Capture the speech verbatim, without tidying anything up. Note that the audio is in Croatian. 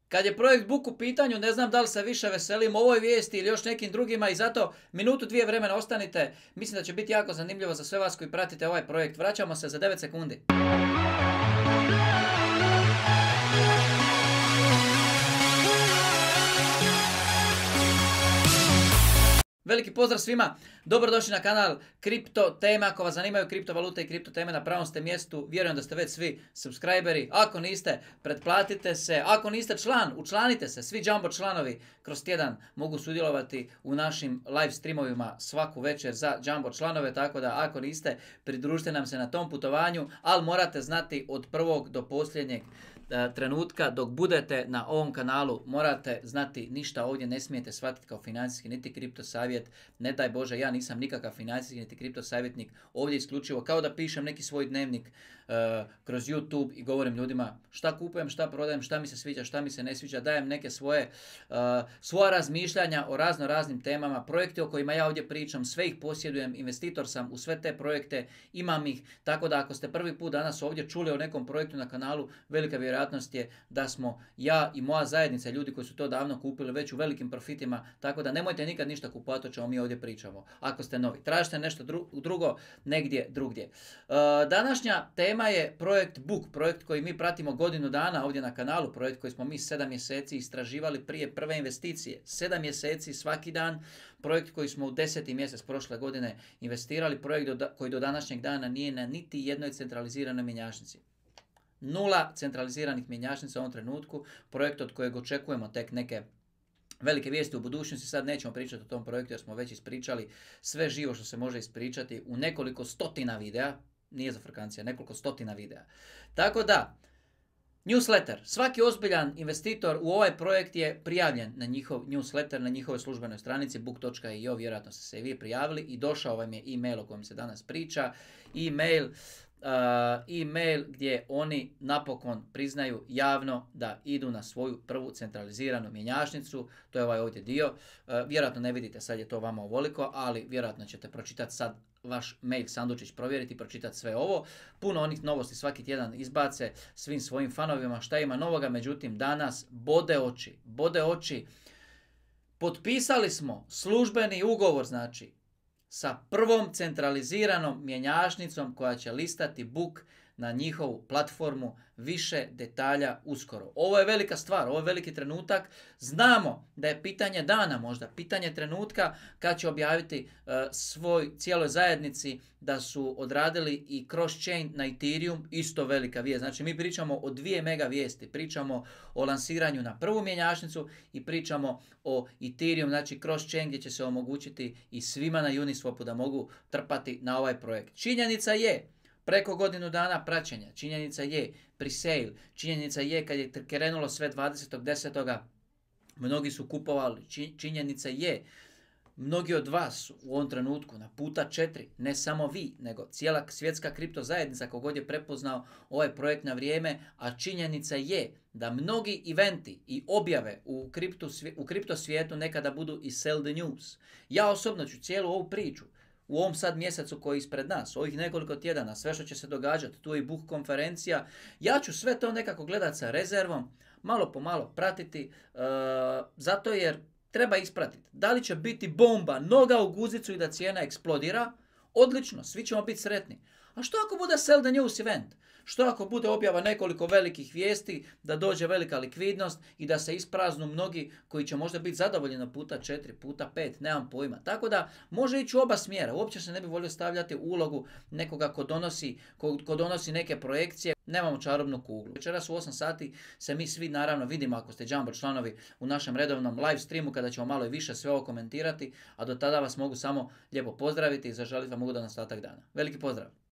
Kad je projekt Book u pitanju, ne znam da li se više veselim ovoj vijesti ili još nekim drugima i zato minutu dvije vremena ostanite. Mislim da će biti jako zanimljivo za sve vas koji pratite ovaj projekt. Vraćamo se za devet sekundi. Veliki pozdrav svima, dobrodošli na kanal Kripto Teme. Ako vas zanimaju kriptovalute i kripto teme, na pravom ste mjestu. Vjerujem da ste već svi subscriberi. Ako niste, pretplatite se. Ako niste član, učlanite se. Svi Jumbo članovi kroz tjedan mogu sudjelovati u našim live streamovima svaku večer za Jumbo članove. Tako da ako niste, pridružite nam se na tom putovanju, ali morate znati od prvog do posljednjeg trenutka dok budete na ovom kanalu, morate znati ništa ovdje ne smijete shvatiti kao financijski niti kripto savjet. Ne daj Bože, ja nisam nikakav financijski niti kripto savjetnik. Ovdje isključivo kao da pišem neki svoj dnevnik uh, kroz YouTube i govorim ljudima šta kupujem, šta prodajem, šta mi se sviđa, šta mi se ne sviđa. Dajem neke svoje uh, svoja razmišljanja o razno raznim temama, projekte o kojima ja ovdje pričam, sve ih posjedujem, investitor sam u sve te projekte, imam ih. Tako da ako ste prvi put danas ovdje čuli o nekom projektu na kanalu, velika vjerojatnost je da smo ja i moja zajednica, ljudi koji su to davno kupili, već u velikim profitima, tako da nemojte nikad ništa kupovati o čemu mi ovdje pričamo. Ako ste novi, tražite nešto drugo negdje drugdje. E, današnja tema je projekt Book, projekt koji mi pratimo godinu dana ovdje na kanalu, projekt koji smo mi sedam mjeseci istraživali prije prve investicije. sedam mjeseci svaki dan, projekt koji smo u deseti mjesec prošle godine investirali, projekt do, koji do današnjeg dana nije na niti jednoj centraliziranoj mjenjačnici. Nula centraliziranih mjenjačnica u ovom trenutku, projekt od kojeg očekujemo tek neke velike vijesti u budućnosti. Sad nećemo pričati o tom projektu jer smo već ispričali sve živo što se može ispričati u nekoliko stotina videa, nije za frkancija, nekoliko stotina videa. Tako da, newsletter. Svaki ozbiljan investitor u ovaj projekt je prijavljen na njihov newsletter, na njihovoj službenoj stranici book dot i o, vjerojatno ste se i vi prijavili i došao vam je e-mail o kojem se danas priča. E-mail Uh, e-mail gdje oni napokon priznaju javno da idu na svoju prvu centraliziranu mjenjačnicu. To je ovaj ovdje dio. Uh, vjerojatno ne vidite, sad je to vama ovoliko, ali vjerojatno ćete pročitati sad vaš mail sandučić, provjeriti i pročitati sve ovo. Puno onih novosti svaki tjedan izbace svim svojim fanovima šta ima novoga, međutim danas bode oči, bode oči. Potpisali smo službeni ugovor, znači, sa prvom centraliziranom mjenjačnicom koja će listati Book na njihovu platformu. Više detalja uskoro. Ovo je velika stvar, ovo je veliki trenutak. Znamo da je pitanje dana, možda pitanje trenutka kad će objaviti uh, svoj cijeloj zajednici da su odradili i cross-chain na Ethereum, isto velika vijest. Znači mi pričamo o dvije mega vijesti. Pričamo o lansiranju na prvu mjenjačnicu i pričamo o Ethereum, znači cross-chain gdje će se omogućiti i svima na Uniswapu da mogu trpati na ovaj projekt. Činjenica je, preko godinu dana praćenja, činjenica je pre-sale, činjenica je kad je krenulo sve dvadesetog desetog mnogi su kupovali, činjenica je mnogi od vas u ovom trenutku na puta četiri, ne samo vi, nego cijela svjetska kripto zajednica kogod je prepoznao ovaj projekt na vrijeme, a činjenica je da mnogi eventi i objave u kripto, u kripto svijetu nekada budu i sell the news. Ja osobno ću cijelu ovu priču u ovom sad mjesecu koji je ispred nas, ovih nekoliko tjedana, sve što će se događati, tu je i Book konferencija, ja ću sve to nekako gledati sa rezervom, malo po malo pratiti, uh, zato jer treba ispratiti. Da li će biti bomba, noga u guzicu i da cijena eksplodira? Odlično, svi ćemo biti sretni. A što ako bude sell the news event? Što ako bude objava nekoliko velikih vijesti, da dođe velika likvidnost i da se ispraznu mnogi koji će možda biti zadovoljni na puta četiri, puta pet, nemam pojma. Tako da može ići u oba smjera. Uopće se ne bi volio stavljati u ulogu nekoga ko donosi, ko, ko donosi neke projekcije. Nemamo čarobnu kuglu. Večeras u osam sati se mi svi naravno vidimo ako ste Jumbo članovi u našem redovnom live streamu kada ćemo malo i više sve ovo komentirati, a do tada vas mogu samo lijepo pozdraviti i zaželiti vam ugodan ostatak dana. Veliki pozdrav!